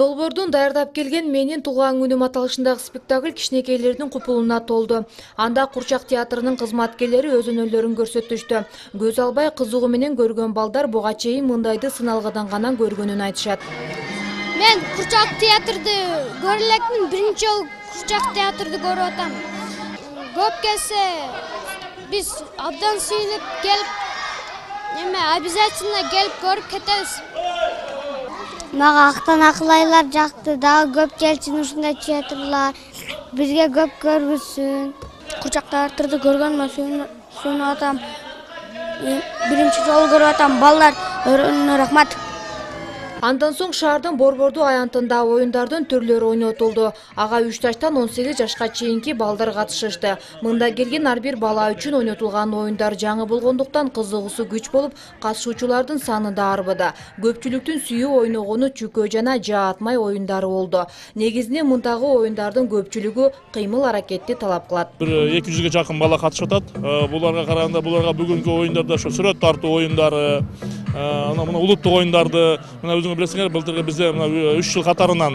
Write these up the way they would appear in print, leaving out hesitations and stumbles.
Долбоордун даярдап келген Менин туулган күнүм аталышындагы спектакль кичинекейлердин купулуна толду. Анда Курчак театрынын кызматкерлери өз өнөрлөрүн көрсөтүштү. Көз албай кызыгуу менен көргөн балдар буга чейин мындайды сыналгыдан гана көргөнүн айтышат. Мен Курчак театрды көрө электим, биринчи жолу Курчак театрды көрүп атам. Көп келсе биз абдан сүйүнүп келип, обязательно келип көрүп кетебиз. Мага актан акылайлар жакты, дагы көп келсин ушундай театрлар, бизге көп көргүзсүн. Курчак театрды көргөнүмө сүйүнүп атам. Биринчи жолу көрүп атам, балдар өрөөнүнө рахмат. Андан соң шаардын борбордуу аянтында оюндардын түрлөрү ойнотулду. Ага 3 жаштан 18 жашка чейинки балдар катышышты. Мында келген ар бир бала үчүн ойнотулган оюндар жаңы болгондуктан кызыгуусу күч болуп, катышуучулардын саны да арбыды. Көпчүлүктүн сүйүү ойногону чүкө жана жаатмай оюндары болду. Негизинен мындагы оюндардын көпчүлүгү кыймыл аракетти талап кылат. Бир 200 жакын бала катышып атат. Буларга караганда буларга бүгүнкү оюндарда ошо сүрөт тартуу оюндары, мына улуттук оюндарды, мына билесиңер, былтыркы бизде 3 жыл катарынан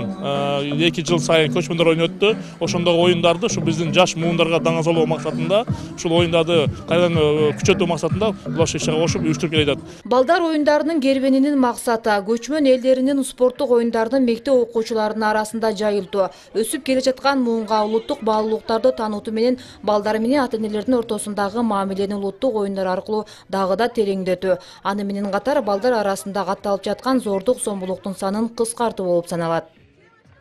2 жыл сайын көчмөндөр ойнойт өттү. Ошондогу оюндарды ушу биздин жаш муундарга даңазалоо максатында, ушул оюндарды кайрадан күчөтүү максатында булар ишке кошуп уюштуруп келатат. Балдар оюндарынын кербенинин максаты көчмөн элдеринин спорттук оюндардын мектеп окуучуларынын арасында жайылтуу. Өсүп келе жаткан муунга улуттук баалуулуктарды таанытуу менен балдар менен ата-энелердин ортосундагы мамилени улуттук оюндар аркылуу дагы да тереңдетүү. Аны менен катар балдар арасында катталып жаткан зордук сомбулуктун санын кыскартуу болуп саналат.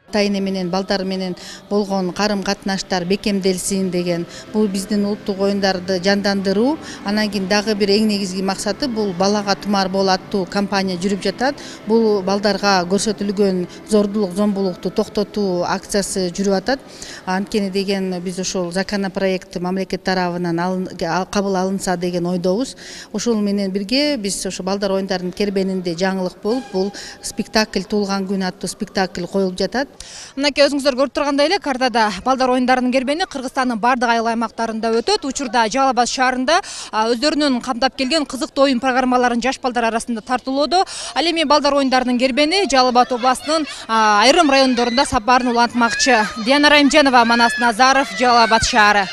Ата-эне менен балдар менен болгон карым-катнаштар бекемделсин деген бул биздин улуттук оюндарды жандандыруу. Анан кийин дагы бир эң негизги максаты бул балага тумар бол аттуу кампания жүрүп жатат. Бул балдарга көрсөтүлгөн зордулук зомбулукту токтотуу акциясы жүрүп атат. Анткени деген биз ошол законопроект мамлекет тарабынан кабыл алынса деген ойдобуз. Ошол менен бирге биз ошо балдар оюндарынын кербенинде жаңылык болуп, бул спектакль туулган күн аттуу спектакль коюлуп жатат. Мынакей өзүңүздөр көрүп тургандай эле картада балдар оюндарынын кербени Кыргызстандын бардык айыл аймактарында өтөт. Учурда Жалал Абад шаарында өздөрүнүн камдап келген кызыктуу оюн программаларын жаш балдар арасында тартуулоодо. Ал эми балдар оюндарынын кербени Жалал Абад областынын айрым райондорунда сапарын улантмакчы. Диана Райымжанова, Манас Назаров, Жалал Абад шаары.